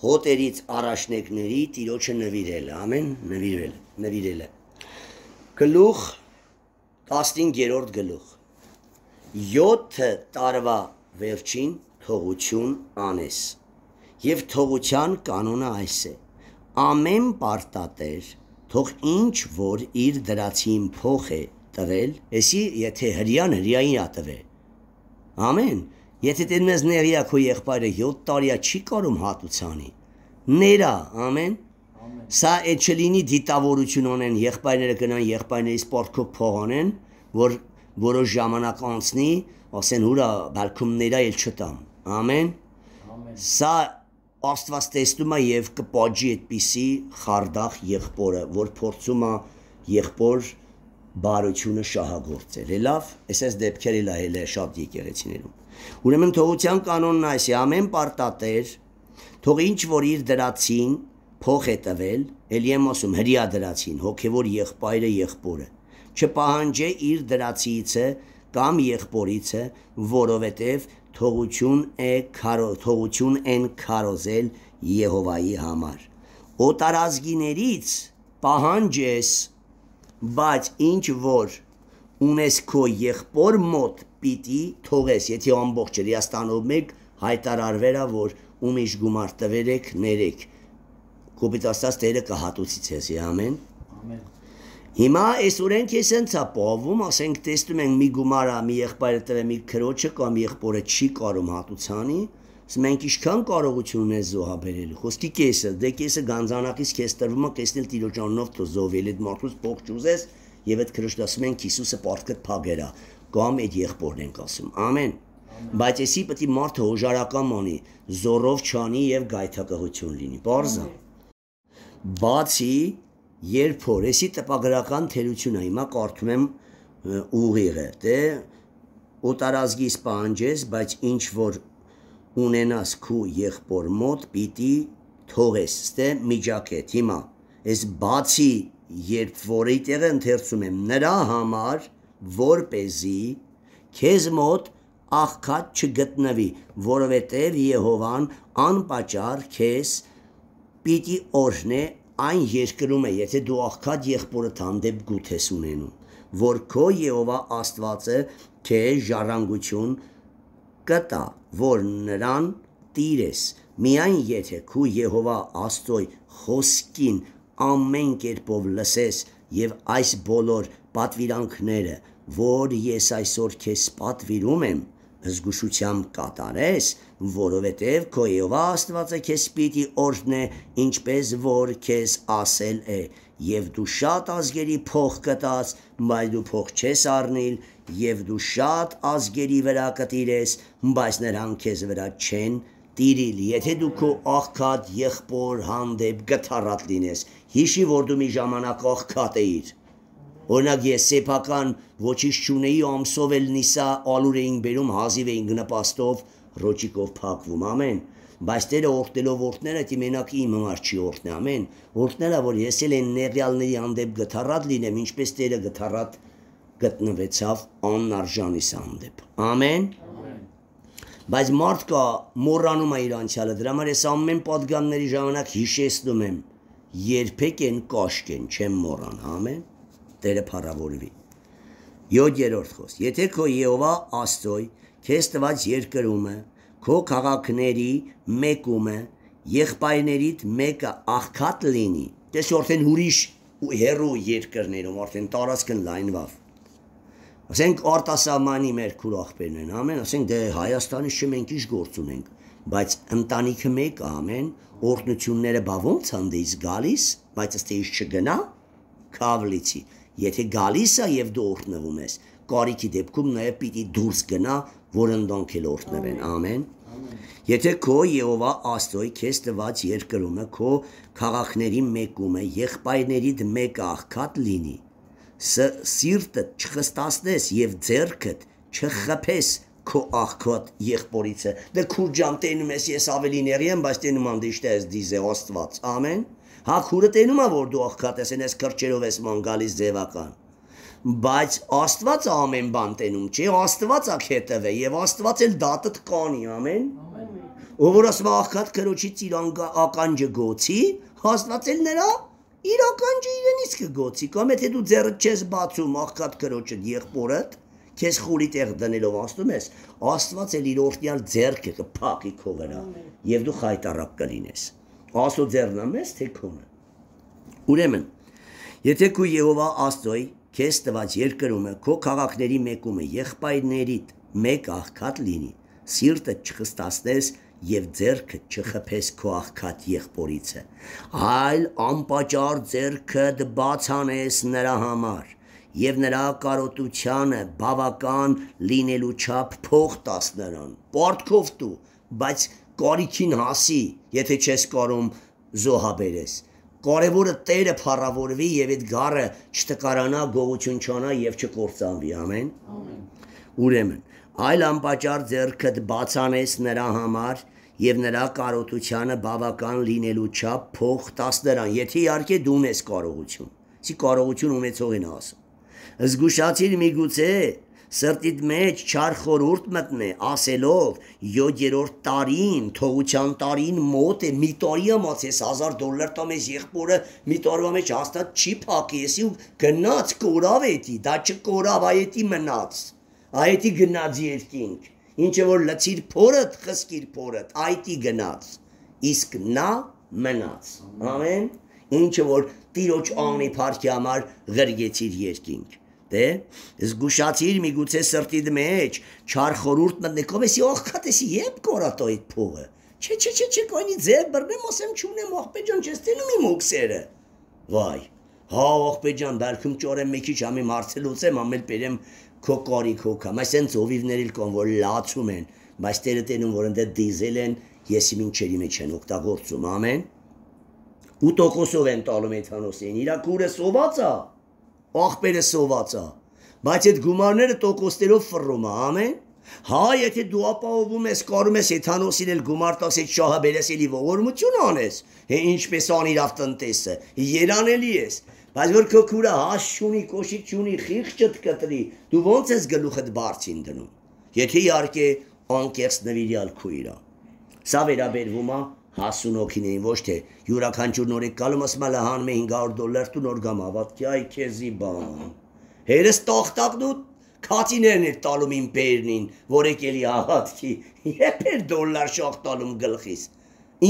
հոտերից առաջնեկների Տիրոջը նվիրելը, ամեն, նվիրել, նվիրելը։ Գլուխ տասնհինգերորդ գլուխ։ Յոթ տարվա վերջին թողություն անես։ Եվ թողության կանոնը այս է. ամեն պարտատեր թող ինչ որ իր դրացին փող է տվել, էսի եթե հրյան հրյային է տվել։ Ամեն։ Եթե դեն մեզ ներիա քո եղբայրը յոթ տարիա չի կարում հատուցանի, ներա, ամեն, սա այդ չլինի դիտավորություն ունեն, եղբայրները գնան եղբայրների սպորտքով փող անեն, որ որոշ ժամանակ անցնի, ասեն հուրա բալքում ներա էլ չտամ, ամեն, սա Աստված տեսնում է եւ կպաջի այդպիսի խարդախ եղբորը, որ փորձում է եղբոր բարությունը շահագործել, լավ, այսպես դեպքեր էլ է շատ եկեղեցիներում։ Ուրեմն թողության կանոնն այս է, ամեն պարտատեր թող ինչ որ իր դրացին փող է տվել, էլի եմ ասում հրյա դրացին, հոգևոր եղբայրը եղբորը, չպահանջե իր դրացիցը կամ եղբորիցը, որովհետև թողություն է քարո թողություն են քարոզել Եհովայի համար։ Օտարազգիներից պահանջես, բայց ինչ որ ունես քո եղբոր մոտ պիտի թողես, եթե ամբողջ Հրեաստանով մեկ հայտարարվերա, որ ում իշ գումար տվել եք, ներեք։ Կոպիտ ասած Տերը կհատուցի ցեզ, ամեն։ Ամեն։ Հիմա այս օրենք ես ընց է պահվում, ասենք տեսնում ենք մի գումարը մի եղբայրը տվել մի քրոջը կամ եղբորը չի կարում հատուցանի, ասում մենք ինչքան կարողություն ունես զոհաբերելու, խոսքի կեսը, դե կեսը գանձանակից քեզ տրվում է, կեսն էլ Տիրոջ անունով թող զոհվել, այդ մարդուց փող չուզես, եւ այդ քրոջն ասում ենք Հիսուսը պարտքդ փագերա, կամ այդ եղբորն ենք ասում, ամեն։ Բայց էսի պետք է մարդը հոժարական անի, զորով չանի եւ գայթակղություն լինի։ Բարձա։ Բացի երբ որ էսի տպագրական թերությունը հիմա կարդում եմ ուղիղը, դե օտարազգիս պահանջես, բայց ինչ որ ունենաս քու եղբոր մոտ պիտի թողես, ստե միջակետ հիմա, ես բացի երբ որ այդտեղ ընթերցում եմ նրա համար, որպեսզի քեզ մոտ աղքատ չգտնվի, որովհետև Եհովան անպատճառ քեզ պիտի օրհնե այն երկրում է, եթե դու աղքատ եղբորդ հանդեպ գութ ես ունենում, որ քո Եհովա Աստվածը քեզ ժառանգություն կտա, որ նրան տիրես, միայն եթե քու Եհովա Աստծոյ խոսքին ամեն կերպով լսես եւ այս բոլոր պատվիրանքները, որ ես այսօր քեզ պատվիրում եմ, զգուշությամբ կատարես, որովհետև քո Եհովա Աստվածը քեզ պիտի օրհնե, ինչպես որ քեզ ասել է, եւ դու շատ ազգերի փող կտաս, բայց դու փող չես առնիլ, եւ դու շատ ազգերի վրա կտիրես, բայց նրանք քեզ վրա չեն տիրիլ, եթե դու քո աղքատ եղբոր հանդեպ գթառատ լինես, հիշի, որ դու մի ժամանակ աղքատ էիր։ Օրինակ ես սեփական ոչինչ չունեի, ամսով էլ նիսա ալուր էինք բերում, հազիվ էինք նպաստով, ռոճիկով փակվում, ամեն։ Բայց Տերը օրհնելով օրհները, դի մենակ իմ համար չի օրհնե, ամեն։ Օրհնելա, որ ես էլ այն նեղյալների հանդեպ գթառատ լինեմ, ինչպես Տերը գթառատ գտնվեցավ անարժանիս հանդեպ։ Ամեն։ Բայց մարդ կա մոռանում է իր անցյալը, դրա համար ես ամեն պատգամների ժամանակ հիշեցնում եմ, երբեք են կաշկեն, չեմ մոռան, ամեն։ Տերը փառավորվի։ յոթերորդ խոսք. Եթե քո Եհովա Աստծոյ քեզ տված երկրումը, քո քաղաքների մեկումը, եղբայրներիդ մեկը աղքատ լինի, դες արդեն ուրիշ հերու երկրներում արդեն տարածքն լայնվավ։ Ասենք արտասահմանի մեր քուր աղբերն են, ամեն, ասենք դե Հայաստանի շմենք ինչ գործ ունենք, բայց ընտանիքը մեկը, ամեն, օրհնությունները բա ոնց հանդես գալիս, բայց ըստ էս չգնա, քավլիցի։ Եթե գալիս է եւ դու օրհնվում ես, կարիքի դեպքում նաեւ պիտի դուրս գնա, որ ընդոնք էլ օրհնվեն, ամեն։ Եթե քո Եհովա Աստծոյ քեզ տված երկրումը, քո քաղաքների մեկումը, եղբայրներիդ մեկը աղքատ լինի, սիրտը չխստացնես եւ ձեռքդ չխփես քո աղքատ եղբորիցը, դե քուր ջան տենում ես, ես ավելի ների եմ, բայց տենում ամ դիշտե ես դիզե Աստված, ամեն։ Հա քուրը տենում է, որ դու աղքատ ես, ես քրճերով ես ման գալիս ձևական, բայց Աստված ամեն բան տենում չի, Աստված է քետևը եւ Աստված էլ դատդ կանի, ամեն։ Ով որ ասում աղքատ քրոջից իր ականջը գոցի, Աստված էլ նրա իր ականջը իրենից կգոցի, կամ եթե դու ձեռդ չես բացում աղքատ քրոջդ եղբորդ, քեզ խորի տեղ դնելով ասում ես, Աստված էլ իր օրհնյալ ձեռքը կփակի քո վրա եւ դու խայտարակ կլինես։ Աստծո ձեռնա մեզ թե քոնը։ Ուրեմն, եթե քո Եհովա Աստծոյ քեզ տված երկրումը, քո քաղաքների մեկումը, եղբայրներիդ մեկ աղքատ լինի, սիրտը չխստացնես եւ ձեռքը չխփես քո աղքատ եղբորիցը, այլ անպատճառ ձեռքդ բացանես նրա համար եւ նրա կարոտությանը բավական լինելու չափ փող տաս նրան, պարտքով դու, բայց կարիքին հասի, եթե չես կարում զոհաբերես։ Կարևորը Տերը փառավորվի եւ այդ գառը չտկարանա, գողություն չանա եւ չկործանվի, ամեն։ Ուրեմն, այլ անպատճառ ձեռքդ բացանես նրա համար եւ նրա կարոտությանը բավական լինելու չափ փող տաս նրան, եթե իհարկե դու ունես կարողություն։ Սի կարողություն ունեցող են ասում։ Զգուշացիր միգուցե սրտիդ մեջ չար խորհուրդ մտնե, ասելով յոթերորդ տարին, թողության տարին մոտ է, մի տարի ամաց ես հազար դոլար տամ ես եղբորը, մի տարվա մեջ հաստատ չի փակի, եսի ու գնաց կորավ էտի, դա չկորավ, այետի մնաց, այետի գնաց երկինք, ինչը որ լցիր փորդ, խսկիր փորդ, այետի գնաց, իսկ նա մնաց, ամեն, ինչը որ տիրոջ անի փառքի համար ղրգեցիր երկինք։ Դե զգուշացիր միգուցե սրտիդ մեջ չար խորհուրդ մտնի, կովեսի աղքատ էսի երբ կորատո այդ փողը։ Չէ, չէ, չէ, չէ, կայնի ձեր բռնեմ, ասեմ չունեմ աղբե ջան, չես տենում իմ օքսերը։ Վայ, հա աղբե ջան, բերքում ճորեմ մի քիչ ամի մարցելուց եմ, ամել բերեմ քո կարիք հոգամ, այս են ծովիվներ էլ կան, որ լացում են, բայց Տերը տենում որ ընդ դիզել են եսի մինչերի մեջ են օգտագործում ամեն ու տոկոսով են տալում էթանոսին իրա քուրը սոված է աղբերը սոված է բայց այդ գումարները տոկոսներով ֆռում է ամեն հա եթե դու ապահովում ես կարում ես էթանոսին էլ գումար տաս այդ շահը բերես էլի ողորմություն անես հե ինչպես անիրավ տնտեսը երանելի ես բայց որ քո քուրը հաշ չունի կոշիկ չունի խիղճդ կտրի դու ոնց ես գլուխդ բարձին դնում եթե իհարկե անկեղծ նվիրյալ քույրը սա վերաբերվում է հասուն օքինեին ոչ թե յուրաքանչյուր նորեկ գալում ասում է հանում է հինգ հարյուր դոլար տուն օր գամ հավատքի այ քեզի բան հերս տախտակն ու քացիներն էր տալում իմ բերնին որ եկելի հավատքի երբ էր դոլար շախ տալում գլխիս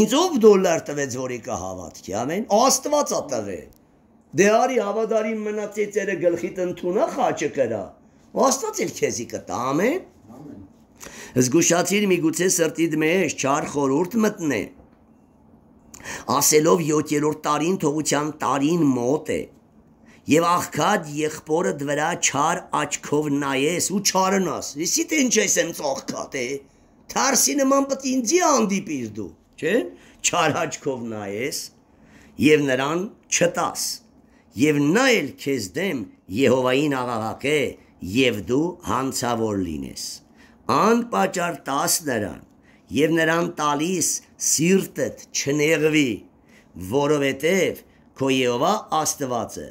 ինձ ով դոլար տվեց որ եկա հավատքի ամեն աստված ա տվել դե արի հավադարին մնացեցերը գլխիդ ընդունա խաչը կրա աստված էլ քեզի կտա ամեն զգուշացիր միգուցե սրտիդ մեջ չար խորհուրդ մտնե ասելով յոթերորդ տարին թողության տարին մոտ է եւ աղքատ եղբորդ վրա չար աչքով նայես ու չարնաս իսի թե ինչ ես եմ աղքատ է թարսի նման պետք ինձի հանդիպիր դու չէ չար աչքով նայես եւ նրան չտաս եւ նա էլ քեզ դեմ Եհովային աղաղակե եւ դու հանցավոր լինես անպատճառ տաս նրան եւ նրան տալիս սիրտդ չնեղվի որովհետեւ քո Եհովա Աստվածը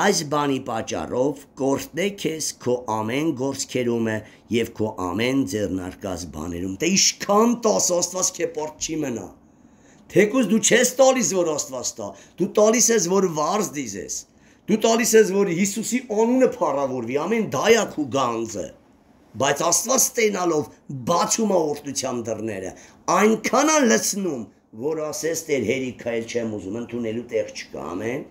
այս բանի պատճառով կորտնե քեզ քո ամեն գործքերումը եւ քո ամեն ձեռնարկած բաներում դե իշքան տաս Աստված քե պորտ չի մնա թեկուզ դու չես տալիս որ Աստված տա դու տալիս ես որ վարձ դիզես դու տալիս ես որ Հիսուսի անունը փառավորվի ամեն դայակ ու գանձը բայց Աստված ստենալով բացում է օրհնության դռները այնքան է լցնում որ ասես Տեր հերիքա էլ չեմ ուզում ընդունելու տեղ չկա ամեն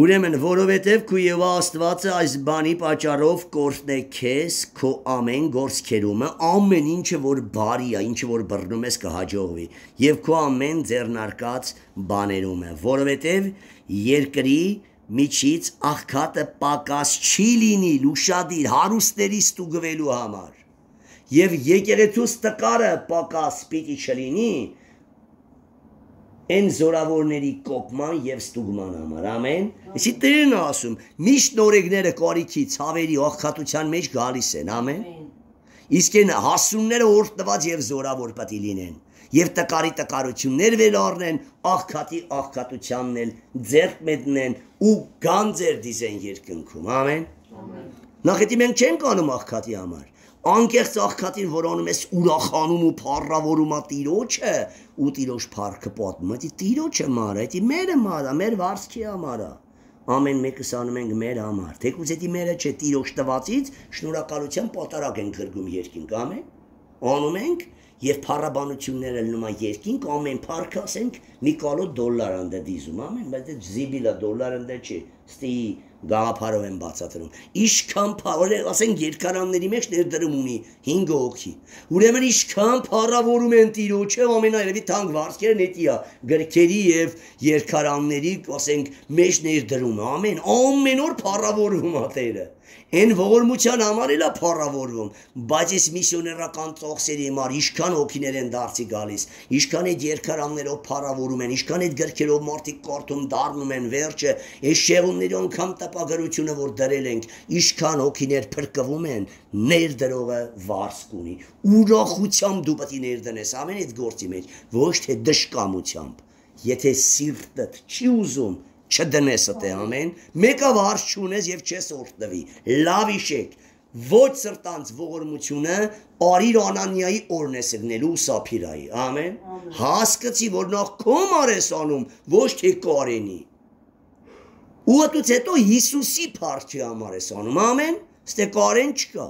Ուրեմն որովհետև քո Եհովա Աստվածը այս բանի պատճառով կորտնե քեզ քո ամեն գործքերումը ամեն ինչը որ բարի է ինչը որ բռնում ես կհաջողվի եւ քո ամեն ձեռնարկած բաներում է որովհետև երկրի միջից աղքատը պակաս չի լինի լուշադիր հարուստների ստուգվելու համար եւ եկեղեցուց տկարը պակաս պիտի չլինի Են զորավորների կոպման եւ ստուգման համար ամեն Իսի Տերն ասում միշտ նորեգները կարիքի ցավերի աղքատության մեջ գալիս են ամեն Իսկ են հասունները օրհնված եւ զորավոր պետք է լինեն եւ տկարի տկարություններ վեր առնեն աղքատի աղքատությանն էլ ձեռք մտնեն ու գանձեր դիզեն երկնքում ամեն Նախ եթե մենք չենք անում աղքատի համար Անկեղծ աղքատին որ անում ես ուրախանում ու փառավորում ա Տիրոջը ու Տիրոջ փառքը պատմում է Տիրոջը մարա դա մերը մարա մեր վարձքի համար է ամեն մեկս անում ենք մեր համար թեկուզ դա մերը չէ Տիրոջ տվածից շնորհակալության պատարակ ենք գրգում երկինք ամեն անում ենք եւ փառաբանությունները լնում է երկինք ամեն փառքը ասենք մի կալոտ դոլար ընդ դիզում ամեն բայց դա զիբիլա դոլար ընդ չի ստի Գաղափարով են բացատրում Իշքան փառ ասենք երկարանների մեջ ներդրում ունի հինգ հոգի Ուրեմն իշքան փառավորում են Տիրոջը ամենայերևի թանկ վարձքերն էտիա գրքերի եւ երկարանների ասենք մեջ ներդրում ամեն ամեն օր փառավորում է Տերը Են ողորմության համար էլ է փառավորվում բայց այս միսիոներական ծախսերի համար իշքան հոգիներ են դարձի գալիս իշքան այդ երկարաններով փառավորում են իշքան այդ գրքերով մարդիկ կարդում դառնում են վերջը այս շեղումների անգամ տպագրությունը որ դրել ենք իշքան հոգիներ փրկվում են ներդրողը վարձք ունի ուրախությամբ դու պետք է ներդնես ամեն այդ գործի մեջ ոչ թե դժկամությամբ եթե սիրտդ չի ուզում չդնես ըտե ամեն մեկը վարձ չունես եւ չես օրհնվի լավ իշեք ոչ սրտանց ողորմությունը արիր Անանիայի օրնեսգնելու Սափիրայի ամեն հասկացի որ նախ կոմար ես անում ոչ թե Կարենի ու ատուց հետո Հիսուսի փառքի համար ես անում ամեն ստե Կարեն չկա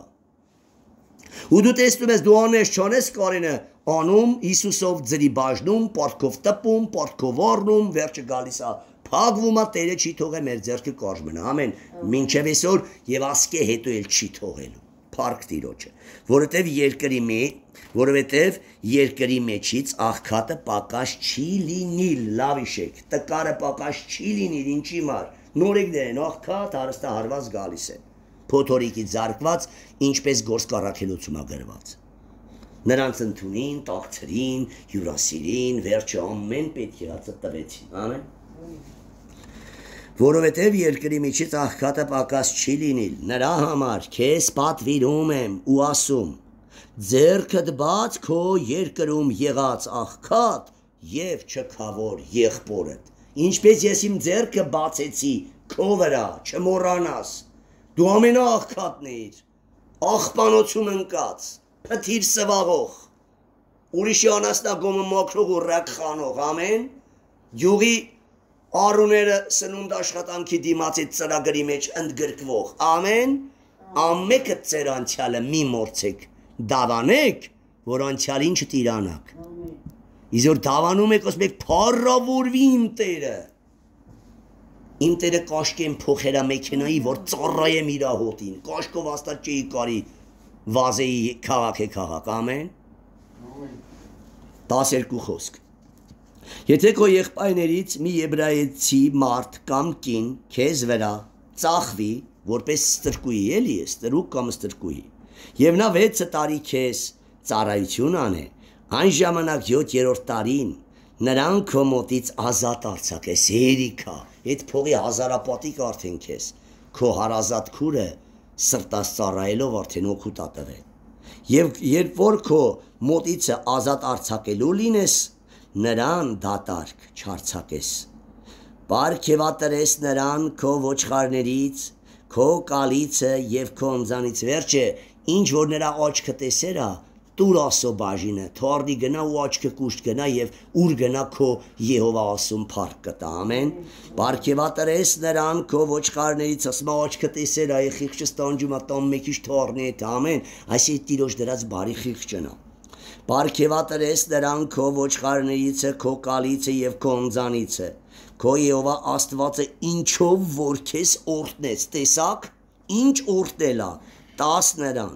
ու դու տեսնում ես դու անես չանես Կարենը անում Հիսուսով ձրի բաժնում պարտքով տպում պարտքով առնում վերջը գալիս է Փագվում է Տերը չի թողե մեր ձեռքը կարճ մնա ամեն մինչև այսօր եւ ասկե հետո էլ չի թողելու Փառք Տիրոջը որովհետեւ երկրի մեջ որովհետեւ երկրի մեջից աղքատը պակաս չի լինի լավ իշեք տկարը պակաս չի լինի ինչի մար նորեգներ են աղքատ հարստահարված գալիս են փոթորիկի զարկված, ինչպես գործկառաքելոցում է գրված։ Նրանց ընդունին, տաղցրին, հյուրասիրին, վերջը ամեն պետք եղածը տվեցին։ Ամեն։ Որովհետև երկրի միջից աղքատը պակաս չի լինիլ, նրա համար քեզ պատվիրում եմ ու ասում, ձեռքդ բաց քո երկրում եղած աղքատ եւ չքավոր եղբորդ, ինչպես ես իմ ձեռքը բացեցի քո վրա, չմոռանաս, դու ամենաաղքատն էիր, աղբանոցում ընկած, փթիր սվաղող, ուրիշի անասնագոմը մաքրող ու ռակ խանող, ամեն, յուղի Արուները սնունդ աշխատանքի դիմացից ծրագրի մեջ ընդգրկվող, ամեն, ամեկը ծեր անցյալը մի մորցեք, դավանեք, որ անցյալին չտիրանաք։ Իզոր դավանում եք, ասում եք, փառավորվի իմ տերը։ Իմ տերը կաշկեմ փոխերա մեքենայի, որ ծառայեմ իրա հոտին, կաշկով աստատ չէի կարի վազեի քաղաք է քաղաք, ամեն, տասերկու խոսք։ Եթե քո եղբայրներից մի եբրայեցի մարդ կամ կին քեզ վրա ծախվի, որպես ստրկուի, էլի է, ստրուկ կամ ստրկուի, եւ նա վեց տարի քեզ ծառայություն անե, այն ժամանակ յոթերորդ տարին նրան քո մոտից ազատ արձակես, երիքա, այդ փողի հազարապատիկ արդեն քեզ, քո հարազատ քուրը սրտաս ծառայելով արդեն օգուտ ատվել, եւ երբ որ քո մոտիցը ազատ արձակելու լինես, նրան դատարկ չարձակես, պարգևատրես նրան քո ոչխարներից, քո կալիցը եւ քո ընձանից վերջը, ինչ որ նրա աչքը տեսերա, տուր ասո բաժինը, թարդի գնա ու աչքը կուշտ գնա եւ ուր գնա քո Եհովա ասում փառք կտա, ամեն, պարգևատրես նրան քո ոչխարներից, ասма աչքը տեսերա, այ խիղճը ստանջում ա տան մեկիչ թարնի հետ, ամեն, այսի տիրոջ դրած բարի խիղճնա Պարգևատրես նրան քո ոչխարներից, քո կալիցը եւ քո ընձանիցը, քո Եհովա Աստվածը ինչով որ քեզ օրհնեց, տեսակ, ինչ օրհնելա, տաս նրան,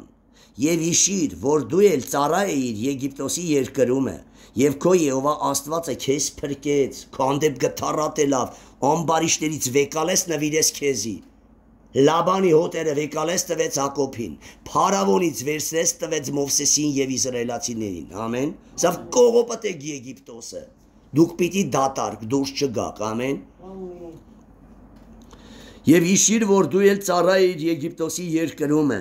եւ իշիր, որ դու էլ ծառա էիր Եգիպտոսի երկրում է, եւ քո Եհովա Աստվածը քեզ փրկեց, քո հանդեպ գթառատելով, ամբարիշներից վեկալես նվիրես քեզի։ Լաբանի հոտերը վեկալես տվեց Հակոբին, Փարավոնից վերցրեց տվեց Մովսեսին եւ իսրայելացիներին, ամեն, սավ կողոպտեք Եգիպտոսը, դուք պիտի դատարկ դուրս չգաք, ամեն, եւ իշիր, որ դու էլ ծառա էիր Եգիպտոսի երկրում է,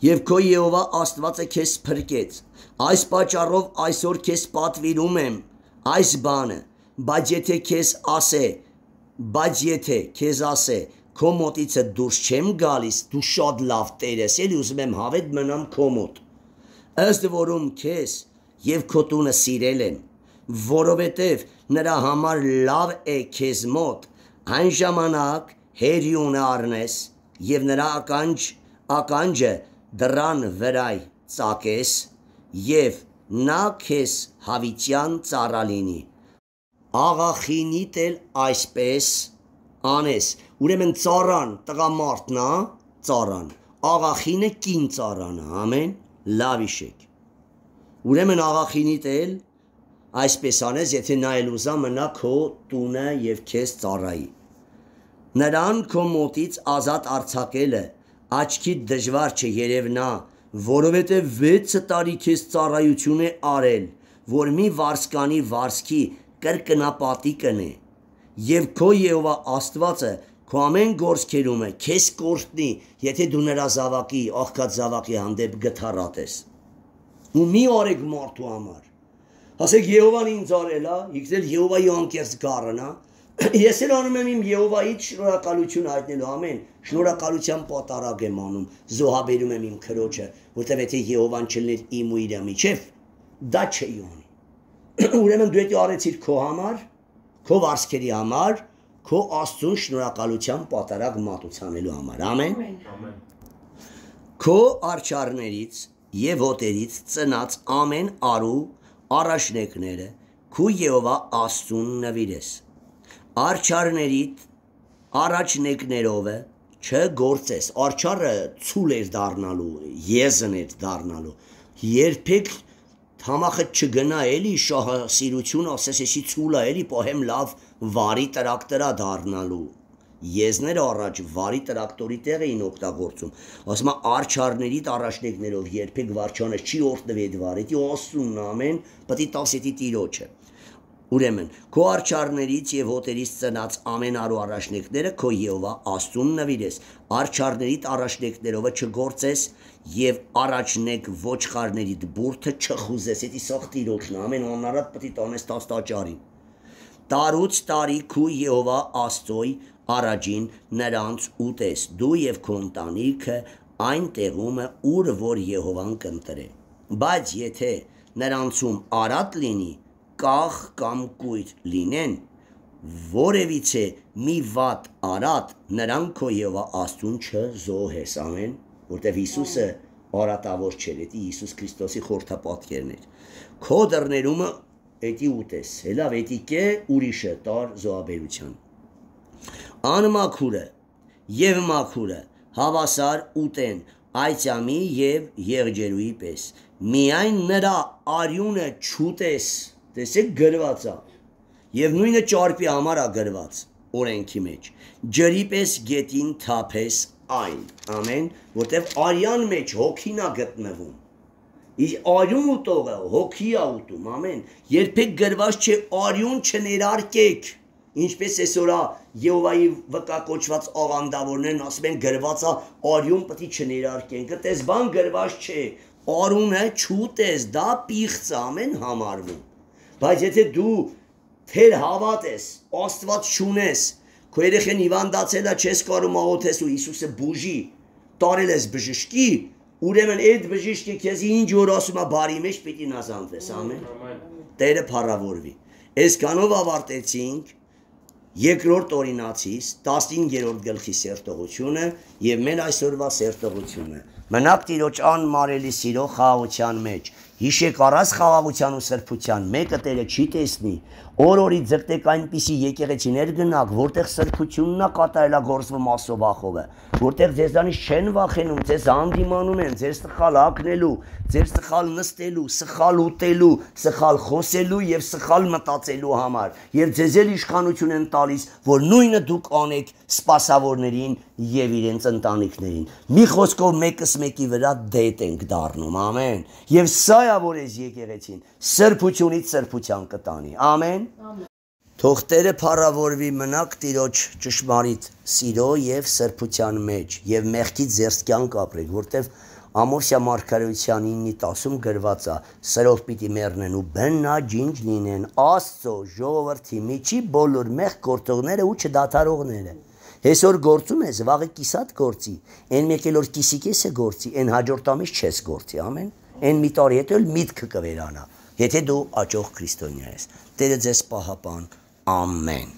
եւ քո Եհովա Աստվածը քեզ փրկեց, այս պատճառով այսօր քեզ պատվիրում եմ, այս բանը, բայց եթե քեզ ասե, բայց եթե քեզ ասե, քո մոտիցը դուրս չեմ գալիս, դու շատ լավ տեր ես, էլի ուզում եմ հավետ մնամ քո մոտ, ըստ որում քեզ եւ քո տունը սիրել են, որովհետեւ նրա համար լավ է քեզ մոտ, այն ժամանակ հերյունը առնես եւ նրա ականջ ականջը դրան վրայ ծակես եւ նա քեզ հավիտյան ծառա լինի, աղախինիդ էլ այսպես անես, ուրեմն ծառան տղամարդն է, ծառան, աղախինը կին ծառան է, ամեն, լավ իշեք, ուրեմն աղախինիդ էլ այսպես անես, եթե նա էլ ուզա մնա քո տունը եւ քեզ ծառայի, նրան քո մոտից ազատ արձակելը աչքիդ դժվար չէ երևնա, որովհետև վեց տարի քեզ ծառայություն է արել, որ մի վարսկանի վարսկի կրկնապատի կնե, եւ քո Եհովա Աստվածը քո ամեն գործքերում է քեզ կորտնի, եթե դու նրա զավակի, աղքատ զավակի հանդեպ գթառատես, ու մի արեք մարդու համար, ասեք Եհովան ինձ արել է, եկել Եհովայի անկեղծ գառն է, ես էլ անում եմ իմ Եհովայից շնորհակալություն հայտնելու, ամեն, շնորհակալության պատարագ եմ անում, զոհաբերում եմ իմ քրոջը, որտեղ եթե Եհովան չլներ իմ ու իր միջև, դա չէի անի։ Ուրեմն դու դա արեցիր քո համար, քո վարսկերի համար, քո Աստծուն շնորհակալության պատարագ մատուցանելու համար, ամեն։ Քո արջառներից եւ հոտերից ծնած ամեն արու առաջնեկները քո Եհովա Աստծուն նվիրես։ Արջառներիդ առաջնեկներով չգործես, արջառը ցուլ էր դառնալու, եզն էր դառնալու, երբեք թամախը չգնա էլի շահասիրություն ասես էսի ցուլա էլի պահեմ լավ վարի տրակտրա դառնալու, Եզները առաջ վարի տրակտորի տեղ էին օգտագործում։ Ասում է արչարներիդ առաջնեկներով երբեք վարչանը չի օրտնվի այդ վարի, դի Աստծուն ամեն, պետք է տասետի տիրոջը։ Ուրեմն, քո արչարներից եւ հոտերից ծնած ամեն արու առաջնեկները քո Եհովա Աստծուն նվիրես, արչարներիդ առաջնեկներովը չգործես եւ առաջնեկ ոչխարներիդ բուրդը չխուզես, դա սաղ տիրոջն ամեն անարատ պետք է տանես տաստաճարին։ Տարուց տարի քու Եհովա Աստծոյ առաջին նրանց ուտես, դու եւ քո ընտանիքը այն տեղումը, ուր որ Եհովան կընտրե։ Բայց եթե նրանցում արատ լինի, կախ կամ կույր լինեն, որևիցե մի վատ արատ, նրան քո Եհովա Աստծուն չզոհես, ամեն, որտեվ Հիսուսը արատավոր չէր, դա Հիսուս Քրիստոսի խորհրդապատկերն էր։ Քո դռներումը էդի ուտես, հելավ էդի կե ուրիշը տար զոհաբերության։ Անմաքուրը եւ մաքուրը հավասար ուտեն այցամի եւ եղջերուի պես, միայն նրա արյունը չուտես, տեսեք գրված է, եւ նույնը ճարպի համար է գրված օրենքի մեջ, ջրի պես գետին թափես այն, ամեն, որտեվ արյան մեջ հոգին է գտնվում, արյուն ուտողը հոգի է ուտում, ամեն, երբեք գրված չէ արյուն չներարկեք, ինչպես այսօրա Եհովայի վկա կոչված աղանդավորներն ասում են գրված է արյուն պետք է չներարկենք, այդպես բան գրված չէ, արյունը չուտես, դա պիղծ է, ամեն համարվում, բայց եթե դու թեր հավատ ես, Աստված չունես, քո երեխան հիվանդացել է, չես կարող աղոթես ու Հիսուսը բուժի, տարել ես բժշկի, ուրեմն այդ բժիշկը քեզ ինչ որ ասում է բարի մեջ պիտի նազանվես, ամեն, Տերը փառավորվի։ Այսքանով ավարտեցինք երկրորդ օրինացից տասնհինգերորդ գլխի սերտողությունը եւ մեր այսօրվա սերտողությունը։ Մնաք Տիրոջ անմարելի սիրո խաղաղության մեջ։ Հիշեք առած խաղաղության ու սրբության մեկը Տերը չի տեսնի։ Օր-օրի ձգտեք այնպիսի եկեղեցիներ գնաք, որտեղ սրբությունն է կատարելագործվում Աստծո վախովը, որտեղ ձեզանից չեն վախենում, ձեզ հանդիմանում են, ձեր սխալ ակնելու, ձեր սխալ նստելու, սխալ ուտելու, սխալ խոսելու եւ սխալ մտածելու համար, եւ ձեզ էլ իշխանություն են տալիս, որ նույնը դուք անեք սպասավորներին եւ իրենց ընտանիքներին։ Մի խոսքով մեկս մեկի վրա դետ ենք դառնում, ամեն։ Եվ սա է որ ես եկեղեցին սրբությունից սրբության կտանի, ամեն։ Թող Տերը փառավորվի, մնաք Տիրոջ ճշմարիտ սիրո եւ սրբության մեջ եւ մեղքից զերծ կյանք ապրեք, որտեվ Ամովսյա մարգարեության ինը տասում գրված է, սրով պիտի մեռնեն ու բնաջինջ լինեն Աստծո ժողովրդի միջի բոլոր մեղք գործողները ու չդադարողները։ Այսօր գործում ես, վաղը կիսատ գործի, այն մեկ էլ որ կիսի կեսը գործի, այն հաջորդ ամիս չես գործի, ամեն։ Այն մի տարի հետո էլ միտքը կվերանա, եթե դու աճող քրիստոնյա ես։ Տերը ձեզ պահապան, ամեն։